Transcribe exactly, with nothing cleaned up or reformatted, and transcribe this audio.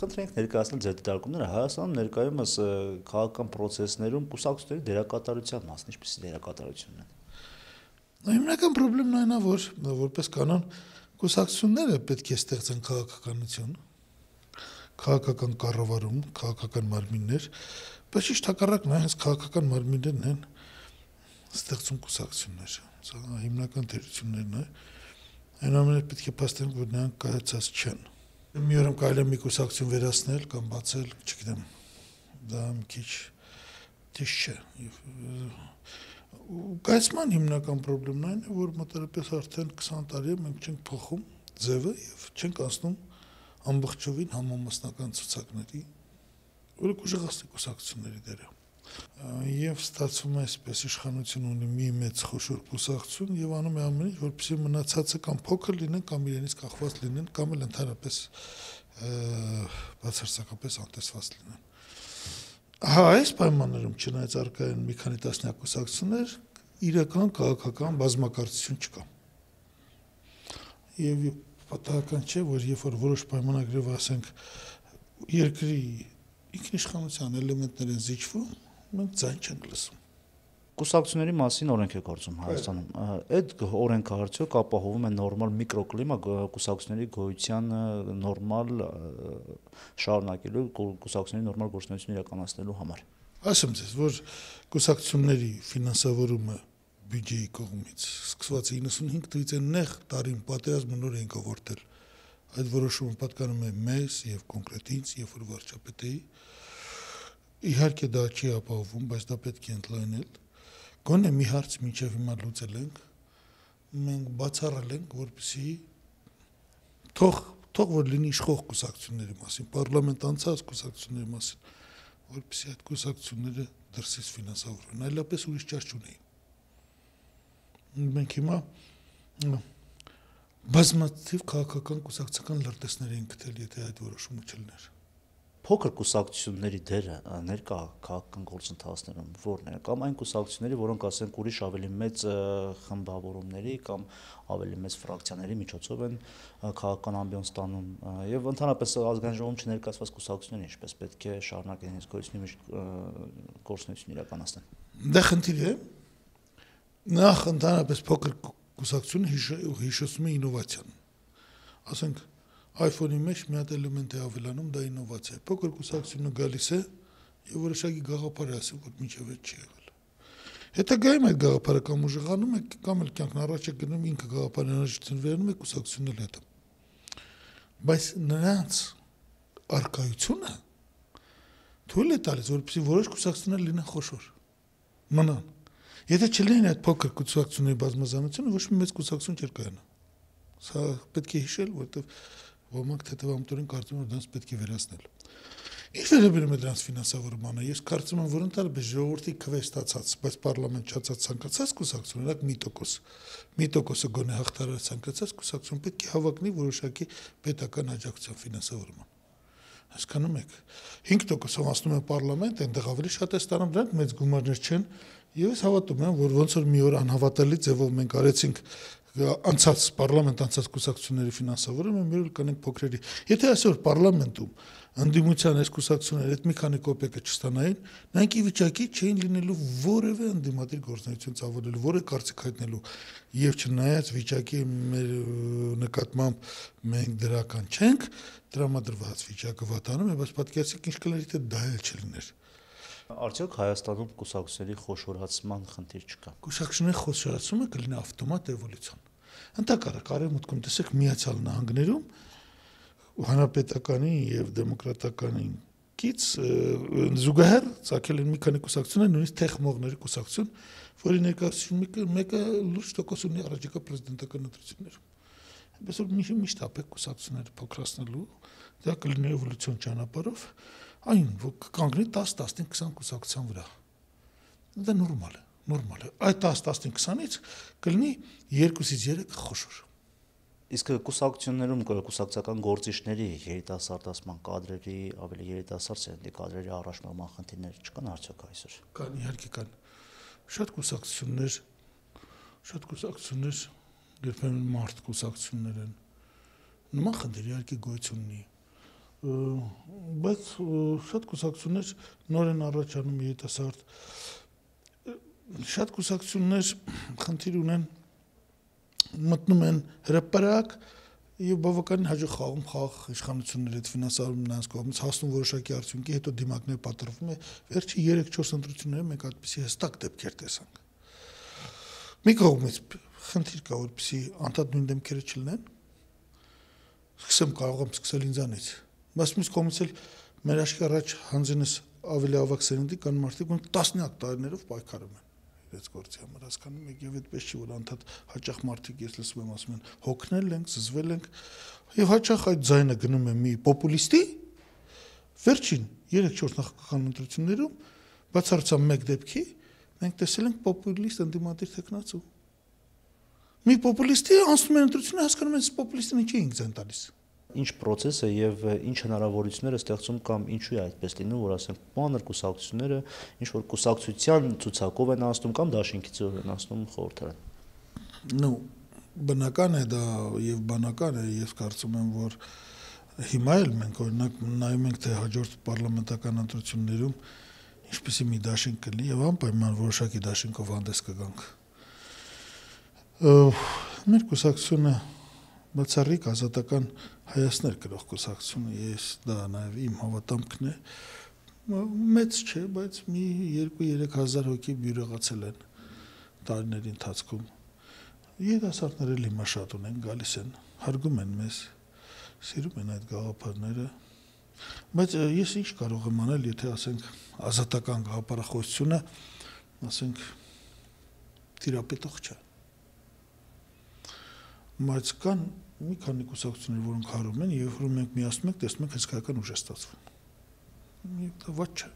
Խնդրենք ներկայացնել ձեր դիտարկումները Հայաստանում ներկայումս քաղաքական process-ներում կուսակցությունների դերակատարության մասն ինչպիսի դերակատարությունն են։ Հիմնական խնդիրն այն է, որ որպես կանոն կուսակցությունները պետք է ստեղծեն քաղաքականություն, քաղաքական կառավարում, քաղաքական մարմիններ, բայց ճիշտ հակառակն է, հենց քաղաքական մարմիններն են ստեղծում կուսակցություններ։ Սա հիմնական թերություններն է։ Այնուամենայնիվ պետք է փաստենք, որ նրանք կայացած չեն։ Մի օրում կարելի է մի կուսակցություն վերացնել կամ բացել, չգիտեմ, դա մի քիչ ճիշտ չէ։ Կայացման հիմնական խնդիրն այն է, որ մոտավորապես արդեն քսան տարի է մենք չենք փոխում ձևը եւ չենք անցնում ամբողջովին համամասնական ցուցակների, որը կուժեղացնի կուսակցությունների դերը։ Եվ ստացվում է այսպես իշխանություն ունի մի մեծ խոշոր կուսակցություն եւ անում է ամեն ինչ, որպեսզի մնացածը կամ փոքր լինեն, կամ իրենից կախված լինեն, կամ էլ ընդհանրապես բացարձակապես անտեսված լինեն։ Հա, այս պայմաններում չնայած առկա են մի քանի տասնյակ կուսակցություններ, իրական քաղաքական բազմակարծություն չկա։ Եվ պատահական չէ, որ երբ որ որոշ պայմանագրով ասենք երկրի ինքնիշխանության էլեմենտներ են զիջվում, մենք ձայն չենք լսում։ Կուսակցությունների մասին օրենք է գործում Հայաստանում։ Այդ օրենքը արդյոք ապահովում է նորմալ միկրոկլիմա կուսակցությունների գոյության նորմալ շարունակելու, կուսակցությունների նորմալ գործունեություն իրականացնելու համար։ Ասեմ ձեզ, որ կուսակցությունների ֆինանսավորումը բյուջեի կողմից սկսված է իննսունհինգ թվականից են նեղ տարին պատերազմը նոր ենք ավարտել։ Այդ որոշումը պատկանում է մեզ եւ կոնկրետ ինձ, երբ որ վարչապետ էի։ Իհարկե դա չի ապահովում, բայց դա պետք է ընդլայնել։ Գոնե մի հարց մինչև հիմա լուծել ենք, մենք բացառել ենք, որպեսզի թող թող որ լինի իշխող կուսակցությունների մասին, պարլամենտ անցած կուսակցությունների մասին, որպեսզի այդ կուսակցությունները դրսից ֆինանսավորվեն, այլապես ուրիշ ճար չունեին։ Մենք հիմա բազմաթիվ քաղաքական կուսակցական լրտեսներ են գտել, եթե այդ որոշումը չլիներ։ Փոքր կուսակցությունների դերը ներկա քաղաքական գործընթացներում որն է, կամ այն կուսակցությունների, որոնք ասենք ուրիշ ավելի մեծ խմբավորումների կամ ավելի մեծ ֆրակցիաների միջոցով են քաղաքական ամբիոնս ստանում եւ ընդհանրապես ազգային ժողովում չներկայացված կուսակցությունները ինչպես պետք է շարունակեն իրենց գործունեություն իրականացնեն։ Դա խնդիր է։ Նախ ընդհանրապես փոքր կուսակցությունը հիշեցնում է ինովացիան։ Ասենք iPhone-ի մեջ մի հատ էլեմենտ է ավելանում, դա ինովացիա է։ Փոքր կուսակցությունը գալիս է եւ որոշակի գաղափար է ասում, որ մինչեւ այդ չի եղել։ Հետագայում այդ գաղափարը կամ ուժեղանում է, կամ էլ կյանքն առաջ է գնում, ինքը գաղափարի անհրաժեշտություն վերանում է կուսակցությունն էլ հետո։ Բայց նրանց արկայությունը թույլ է տալիս, որպեսզի որոշ կուսակցություններ լինեն խոշոր, մնան։ Եթե չլինեն այդ փոքր կուսակցությունների բազմազանությունը, ոչ մի մեծ կուսակցություն չէր կայանա։ Սա պետք է հիշել, որովհետեւ ոմանք թեթևամտորեն կարծում են, որ դրանց պետք է վերացնել։ Ինչ վերաբերում է դրանց ֆինանսավորմանը, ես կարծում եմ, որ ընդհանրապես ժողովրդի քվե ստացած, բայց պարլամենտ չացած ցանկացած կուսակցություն, օրինակ մի տոկոս, մի տոկոսը գոնե հաղթարար ցանկացած կուսակցություն պետք է հավակնի որոշակի պետական աջակցության ֆինանսավորման։ Հասկանում եք, հինգ տոկոսով անցնում են պարլամենտ, այնտեղ ավելի շատ է ստանում, դրանք մեծ գումարներ չեն, եւ ես հավատում եմ, որ ոնց որ մի օր անհավատալի ձևով մենք արեցինք անցած պարլամենտ անցած կուսակցությունների ֆինանսավորումը, մի օր կանենք փոքրերի։ Եթե այսօր պարլամենտում ընդդիմության այս կուսակցությունները այդ մի քանի կոպեկը չստանային, նրանք ի վիճակի չէին լինելու որևէ ընդդիմադիր գործունեություն ծավալելու, որևէ կարծիք հայտնելու, եւ չնայած վիճակի մեր նկատմամբ մենք դրական չենք, տրամադրված վիճակը վատանում է, բայց պատկերացրեք ինչ կլինի, թե դա էլ չլիներ։ Արդյոք Հայաստանում կուսակցությունների խոշորացման խնդիր չկա։ Կուսակցությունների խոշորացումը կլինի ավտոմատ էվոլյուցիոն։ Ընդհակառակ արևմուտքում տեսեք Միացյալ Նահանգներում հանրապետականին եւ դեմոկրատականին կից զուգահեռ ցակել են մի քանի կուսակցություններ, նույնիսկ թեխմողների կուսակցություն, որի ներկայացուցիչը մեկը լուրջ տոկոս ունի առաջիկա պրեզիդենտական ընտրություններում։ Այնպես որ միշտ ապեք կուսակցությունները փոքրացնելու, դա կլինի էվոլյուցիոն ճանապարհով, այն որ կկանգնի դես, տասնինը, քսան կուսակցության վրա։ Դա նորմալ է, նորմալ է։ Այդ դես, տասնինը, քսանից կլինի երկուսից երեք խոշոր։ Իսկ կուսակցություններում կուսակցական գործիչների երիտասարդացման կադրերի, ավելի երիտասարդ սերնդի կադրերի առաջնորման խնդիրներ չկան արդյոք այսօր։ Կան, իհարկե կան։ Շատ կուսակցություններ, շատ կուսակցություններ երբեմն մարդ կուսակցություններ են, Նման խնդիր իհարկե գոյություն ունի։ Բայց շատ կուսակցություններ նոր են առաջանում երիտասարդ, շատ կուսակցություններ խնդիր ունեն, մտնում են հրապարակ եւ բավականին հաջող խաղում խաղ իշխանությունների հետ ֆինանսավորում նրանց կողմից հասնում որոշակի արդյունքի, հետո դիմակներ պատրվում է։ Վերջի երեք չորս ընտրությունները մենք այդպիսի հստակ դեպքեր տեսանք։ Մի կողմից խնդիր կա, որպեսզի անդադ նույն դեմքերը չլինեն, սկսեմ կարող եմ սկսել ինձանից, բայց մյուս կողմից էլ մեր աշխարհի առաջ հանձինս ավելի ավակ սերնդի կան մարդիկ, ում տասնյակ տարիներով պայքարում են իրենց գործի համար, հասկանում եք, եւ այդպես չի, որ անդադ հաճախ մարդիկ ես լսում եմ ասում են հոգնել ենք, զզվել ենք, եւ հաճախ այդ ձայնը գնում է մի պոպուլիստի, վերջին երեք չորս նախագահական ընտրություններում բացառությամբ մեկ դեպքի մենք տեսել ենք պոպուլիստ ընդդիմադիր տեխնացու։ Մի պոպուլիստի անցնում են ընտրությունը, հասկանում են, պոպուլիստին ինչի ենք ձայն տալիս։ Ինչ process է եւ ինչ հնարավորություններ է ստեղծում կամ ինչու է այդպես լինում, որ ասենք մանր կուսակցությունները ինչ որ կուսակցության ցուցակով են անցնում կամ դաշինքի ծով են անցնում խորհրդարան։ Ну, բնական է դա եւ բանական է, ես կարծում եմ, որ հիմա էլ մենք օրինակ նայում ենք թե հաջորդ պարլամենտական ընտրություններում ինչպեսի մի դաշինք կլինի եւ անպայման որոշակի դաշինքով հանդես կգանք։ Մեր կուսակցությունը բացառիկ ազատական հայացներ կրող կուսակցությունը, ես դա նաև իմ հավատամքն է, մեծ չէ, բայց մի երկու երեք հազար հոգի բյուրեղացել են տարիների ընթացքում։ Երիտասարդները հիմա շատ ունեն, գալիս են, հարգում են մեզ, սիրում են այդ գաղափարները, բայց ես ինչ կարող եմ անել, եթե ասենք ազատական գաղափարախոսությունը, ասենք թիրապետող չէ։ Բայց կան մի քանի կուսակցություններ, որոնք հարում են, եւ երբ որ մենք միացնում ենք, տեսնում ենք հսկայական ուժ է ստացվում։ Դա ված չէ։